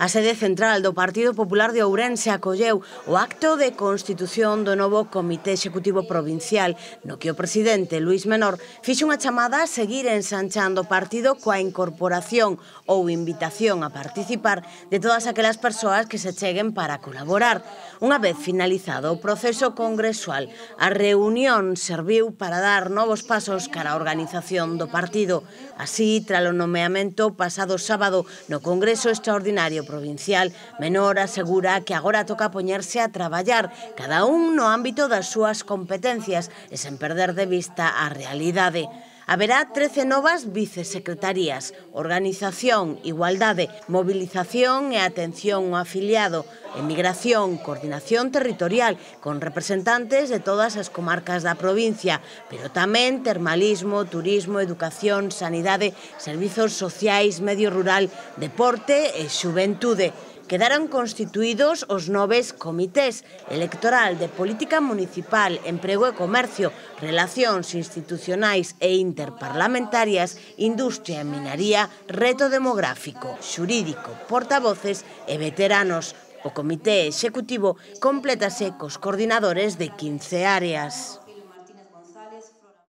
A sede central do Partido Popular de Ourense acolleu o acto de constitución do novo Comité Executivo Provincial, no que o presidente Luís Menor fixo unha chamada a seguir ensanchando o partido coa incorporación ou invitación a participar de todas aquelas persoas que se cheguen para colaborar. Unha vez finalizado o proceso congresual, a reunión serviu para dar novos pasos cara á organización do partido. Así, tras o nomeamento pasado sábado no Congreso Extraordinario Provincial, Menor asegura que agora toca poñerse a traballar, cada un no ámbito das súas competencias e sen perder de vista a realidade. Haberá 13 novas vicesecretarías: organización, igualdade, mobilización e atención ao afiliado, emigración, coordinación territorial, con representantes de todas as comarcas da provincia, pero tamén termalismo, turismo, educación, sanidade, servizos sociais, medio rural, deporte e xuventude. Quedaron constituídos os 9 comités: electoral, de política municipal, emprego e comercio, relacións institucionais e interparlamentarias, industria e minaría, reto demográfico, xurídico, portavoces e veteranos. O comité executivo complétase cos coordinadores de 15 áreas.